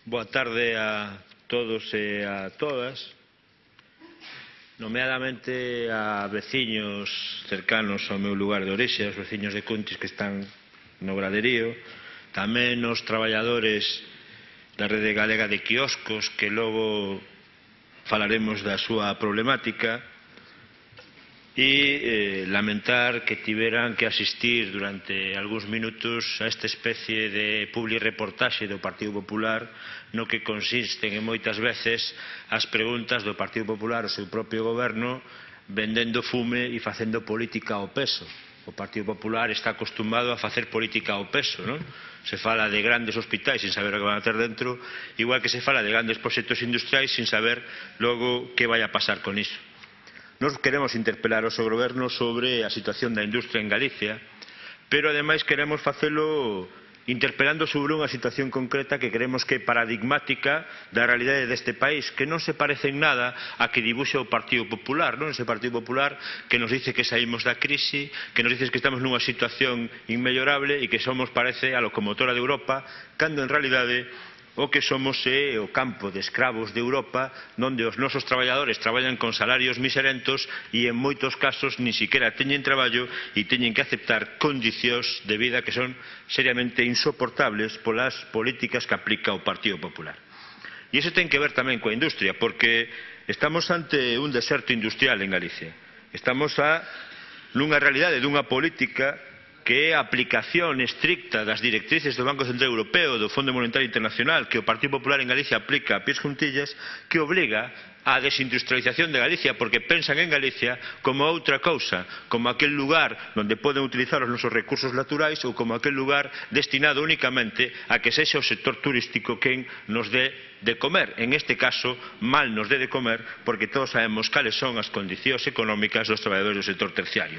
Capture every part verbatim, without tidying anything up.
Boa tarde a todos e a todas, nomeadamente a veciños cercanos ao meu lugar de orixe, aos veciños de Cuntis que están no graderío, tamén os traballadores da rede galega de quioscos que logo falaremos da súa problemática, e eh, lamentar que tiveran que asistir durante algúns minutos a esta especie de publireportaxe do Partido Popular no que consisten en moitas veces as preguntas do Partido Popular ao seu propio goberno vendendo fume e facendo política ao peso. O Partido Popular está acostumado a facer política ao peso, non? Se fala de grandes hospitais sin saber o que van a ter dentro, igual que se fala de grandes proxectos industriais sin saber logo que vai a pasar con iso. Nos queremos interpelar ao seu goberno sobre a situación da industria en Galicia, pero ademais queremos facelo interpelando sobre unha situación concreta que creemos que é paradigmática da realidade deste país, que non se parece en nada a que dibuxe o Partido Popular, non? Ese Partido Popular que nos dice que saímos da crise, que nos dice que estamos nunha situación inmellorable e que somos, parece, a locomotora de Europa, cando en realidade o que somos é o campo de escravos de Europa, onde os nosos traballadores traballan con salarios miserentos e en moitos casos nin siquiera teñen traballo e teñen que aceptar condicións de vida que son seriamente insoportables polas políticas que aplica o Partido Popular. E iso ten que ver tamén coa industria, porque estamos ante un deserto industrial en Galicia. Estamos a nunha realidade dunha política que é a aplicación estricta das directrices do Banco Central Europeo, do Fondo Monetario Internacional, que o Partido Popular en Galicia aplica a pies juntillas, que obriga á desindustrialización de Galicia, porque pensan en Galicia como outra cousa, como aquel lugar onde poden utilizar os nosos recursos naturais ou como aquel lugar destinado únicamente a que sexa o sector turístico quen nos dé de comer. En este caso, mal nos dé de comer, porque todos sabemos cales son as condicións económicas dos traballadores do sector terciario.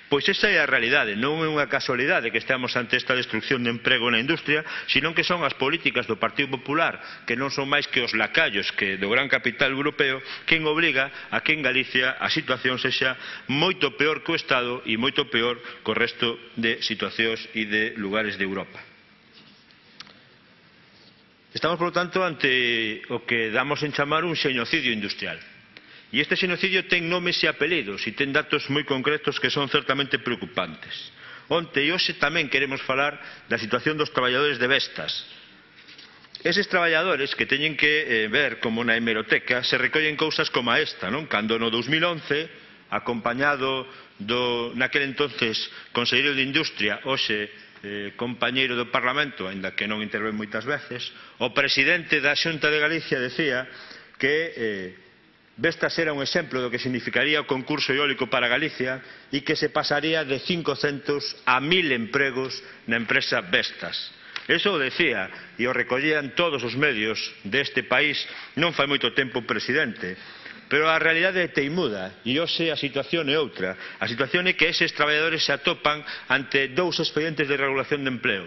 Pois esa é a realidade, non é unha casualidade que estamos ante esta destrucción de emprego na industria, senón que son as políticas do Partido Popular, que non son máis que os lacallos que do gran capital europeo, quen obriga a que en Galicia a situación sexa moito peor que o Estado e moito peor que o resto de situacións e de lugares de Europa. Estamos, por lo tanto, ante o que damos en chamar un xenocidio industrial. E este xenocidio ten nomes e apelidos e ten datos moi concretos que son certamente preocupantes. Onte e hoxe tamén queremos falar da situación dos traballadores de Vestas. Eses traballadores que teñen que eh, ver como na hemeroteca se recollen cousas como esta, non? Cando no dos mil once, acompañado do naquel entonces Conselleiro de Industria, hoxe eh, compañeiro do Parlamento, aínda que non intervén moitas veces, o presidente da Xunta de Galicia decía que eh, Vestas era un exemplo do que significaría o concurso eólico para Galicia e que se pasaría de cincocentos a mil empregos na empresa Vestas. Eso o decía e o recollían todos os medios deste país non fai moito tempo o presidente. Pero a realidade é teimuda e hoxe a situación é outra. A situación é que eses traballadores se atopan ante dous expedientes de regulación de empleo,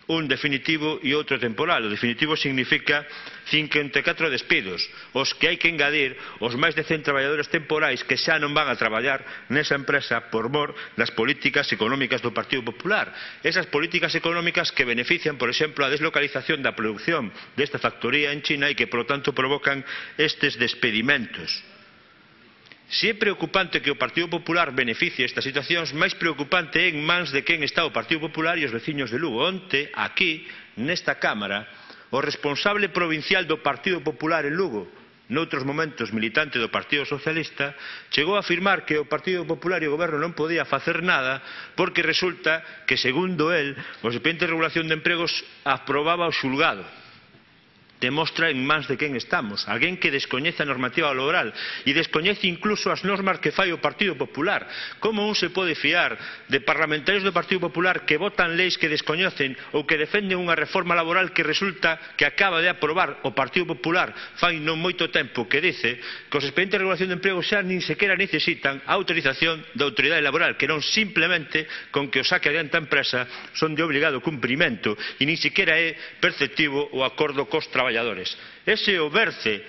un definitivo e outro temporal. O definitivo significa cincuenta e catro despidos, os que hai que engadir os máis de cen traballadores temporais que xa non van a traballar nesa empresa por mor das políticas económicas do Partido Popular. Esas políticas económicas que benefician, por exemplo, a deslocalización da produción desta factoría en China e que, por lo tanto, provocan estes despedimentos. Se é preocupante que o Partido Popular beneficie estas situacións, máis preocupante é en mans de quen está o Partido Popular e os veciños de Lugo. Onte, aquí, nesta Cámara, o responsable provincial do Partido Popular en Lugo, noutros momentos militante do Partido Socialista, chegou a afirmar que o Partido Popular e o Goberno non podía facer nada porque resulta que, segundo el, o expediente de regulación de empregos aprobaba o xulgado. Demostra en mans de quen estamos, alguén que descoñece a normativa laboral e descoñece incluso as normas que fai o Partido Popular. Como un se pode fiar de parlamentarios do Partido Popular que votan leis que descoñecen ou que defenden unha reforma laboral que resulta que acaba de aprobar o Partido Popular fai non moito tempo, que dice que os expedientes de regulación de emprego xa nin sequera necesitan a autorización da autoridade laboral, que non simplemente con que o saque adiante a empresa son de obrigado cumprimento e nin sequera é perceptivo o acordo cos traballadores. Ese o berce,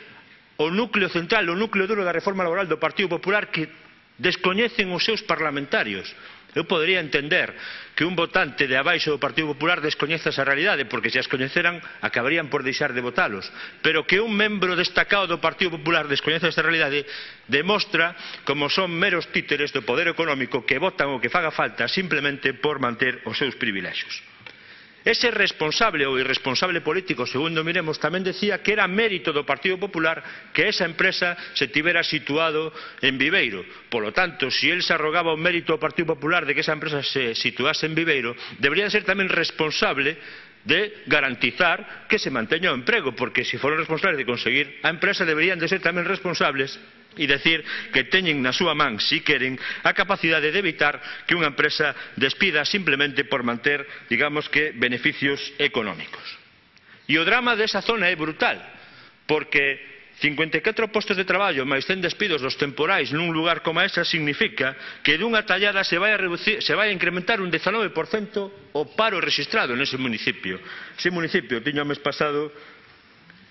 o núcleo central, o núcleo duro da reforma laboral do Partido Popular que descoñecen os seus parlamentarios. Eu podería entender que un votante de abaixo do Partido Popular descoñeza esa realidade, porque se as coñeceran acabarían por deixar de votalos. Pero que un membro destacado do Partido Popular descoñeza esa realidade demostra como son meros títeres do poder económico que votan o que faga falta simplemente por manter os seus privilexios. Ese responsable ou irresponsable político, segundo miremos, tamén decía que era mérito do Partido Popular que esa empresa se tivera situado en Viveiro. Polo tanto, se el se arrogaba o mérito ao Partido Popular de que esa empresa se situase en Viveiro, debería ser tamén responsable de garantizar que se manteña o emprego, porque se foron responsables de conseguir a empresa, deberían de ser tamén responsables e decir que teñen na súa man, si queren, a capacidade de evitar que unha empresa despida simplemente por manter, digamos que, beneficios económicos. E o drama desa zona é brutal, porque cincuenta e catro postos de traballo máis cen despidos dos temporais nun lugar como esa significa que dunha tallada se vai a, reducir, se vai a incrementar un dezanove por cento o paro registrado nese municipio. Ese municipio tiña o mes pasado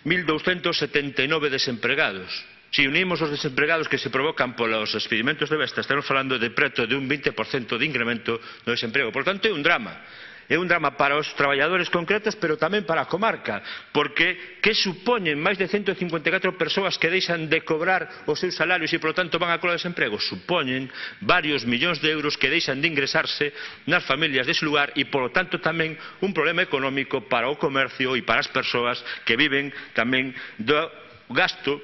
mil douscentos setenta e nove desempregados. Se unimos os desempregados que se provocan polos experimentos de besta, estamos falando de preto de un vinte por cento de incremento do desemprego. Por tanto, é un drama. É un drama para os traballadores concretos, pero tamén para a comarca, porque que supoñen máis de ciento cincuenta e catro persoas que deixan de cobrar os seus salarios e, por lo tanto, van a cola de desemprego? Supoñen varios millóns de euros que deixan de ingresarse nas familias dese lugar e, por lo tanto, tamén un problema económico para o comercio e para as persoas que viven tamén do gasto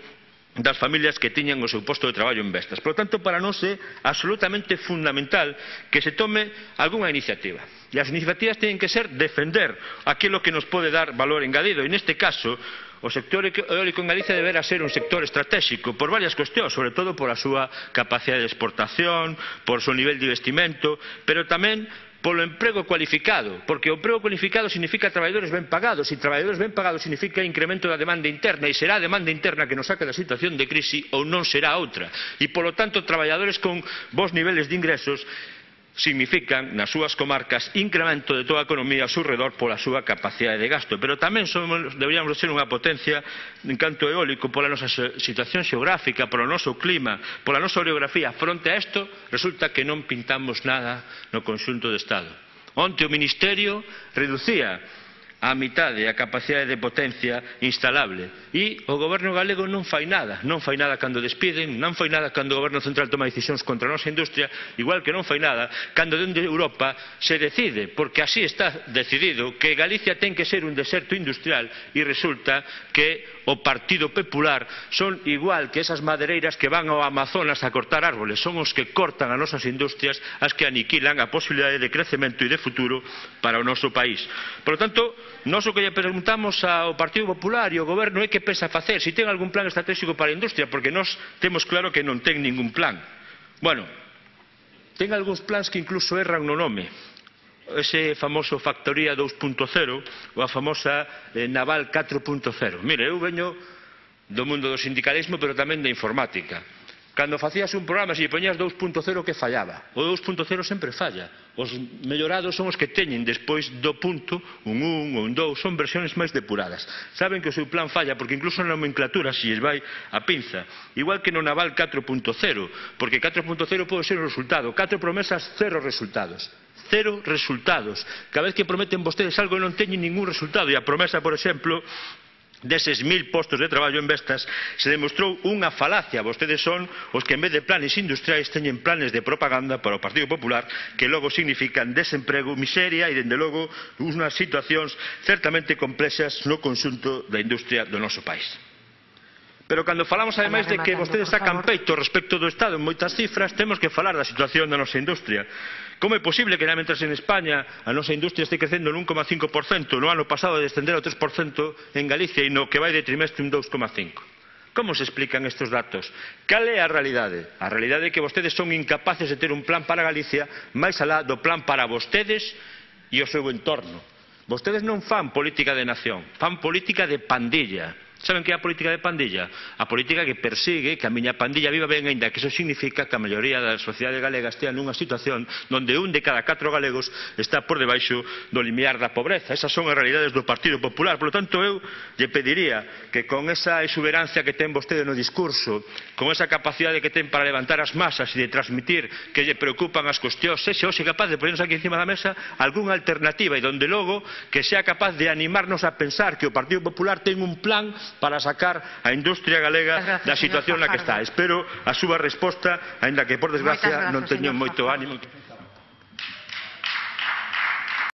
das familias que tiñan o seu posto de traballo en Vestas. Por lo tanto, para nós é absolutamente fundamental que se tome algunha iniciativa. E as iniciativas teñen que ser defender aquilo que nos pode dar valor engadido. E neste caso, o sector eólico en Galicia deberá ser un sector estratégico por varias cuestións, sobre todo por a súa capacidade de exportación, por o seu nivel de investimento, pero tamén polo emprego cualificado, porque o emprego cualificado significa traballadores ben pagados, e traballadores ben pagados significa incremento da demanda interna, e será a demanda interna que nos saque da situación de crise ou non será outra. E, polo tanto, traballadores con bons niveles de ingresos significan, nas súas comarcas, incremento de toda a economía ao seu redor pola súa capacidade de gasto. Pero tamén somos, deberíamos ser unha potencia en canto eólico pola nosa situación xeográfica, polo noso clima, pola nosa orografía. Fronte a isto, resulta que non pintamos nada no conxunto do Estado. Onte o Ministerio reducía a mitade a capacidade de potencia instalable e o goberno galego non fai nada, non fai nada cando despiden, non fai nada cando o goberno central toma decisións contra a nosa industria, igual que non fai nada cando dende Europa se decide, porque así está decidido, que Galicia ten que ser un deserto industrial e resulta que o Partido Popular son igual que esas madereiras que van ao Amazonas a cortar árboles, son os que cortan as nosas industrias, as que aniquilan a posibilidade de crecemento e de futuro para o noso país. Por lo tanto, nós o que lle preguntamos ao Partido Popular e ao Goberno é que pensa facer, se ten algún plan estratégico para a industria, porque nós temos claro que non ten ningún plan. Bueno, ten algúns plans que incluso erran no nome. Ese famoso Factoría dous punto cero ou a famosa eh, Naval catro punto cero. Mire, eu veño do mundo do sindicalismo, pero tamén da informática. Cando facías un programa, se lle poñías dous punto cero, que fallaba? O dous punto cero sempre falla. Os mellorados son os que teñen despois do punto, un un ou un dous, son versións máis depuradas. Saben que o seu plan falla, porque incluso na nomenclatura se lles vai a pinza. Igual que no Naval catro punto cero, porque catro punto cero pode ser o resultado. Catro promesas, cero resultados. Cero resultados. Cada vez que prometen vostedes algo non teñen ningún resultado. E a promesa, por exemplo, deses mil postos de traballo en Vestas se demostrou unha falacia. Vostedes son os que en vez de planes industriais teñen planes de propaganda para o Partido Popular que logo significan desemprego, miseria e, dende logo, unhas situacións certamente complexas no conxunto da industria do noso país. Pero cando falamos, ademais, de que vostedes sacan peito respecto do Estado en moitas cifras, temos que falar da situación da nosa industria. Como é posible que, mentres en España a nosa industria este crecendo un un coma cinco por cento, no ano pasado descender ao tres por cento en Galicia e no que vai de trimestre un dous coma cinco por cento? Como se explican estes datos? Cal é a realidade? A realidade é que vostedes son incapaces de ter un plan para Galicia máis alá do plan para vostedes e o seu entorno. Vostedes non fan política de nación, fan política de pandilla. Saben que é a política de pandilla? A política que persigue que a miña pandilla viva ben, aínda que iso significa que a maioría da sociedade galega estea nunha situación onde un de cada catro galegos está por debaixo do limiar da pobreza. Esas son as realidades do Partido Popular. Por lo tanto, eu lle pediría que con esa exuberancia que ten vostede no discurso, con esa capacidade que ten para levantar as masas e de transmitir que lle preocupan as cuestións, sexa hoxe capaz de ponernos aquí encima da mesa algunha alternativa e donde logo que sea capaz de animarnos a pensar que o Partido Popular ten un plan para sacar a industria galega da situación na que está. Espero a súa resposta, aínda que por desgracia non teño moito ánimo.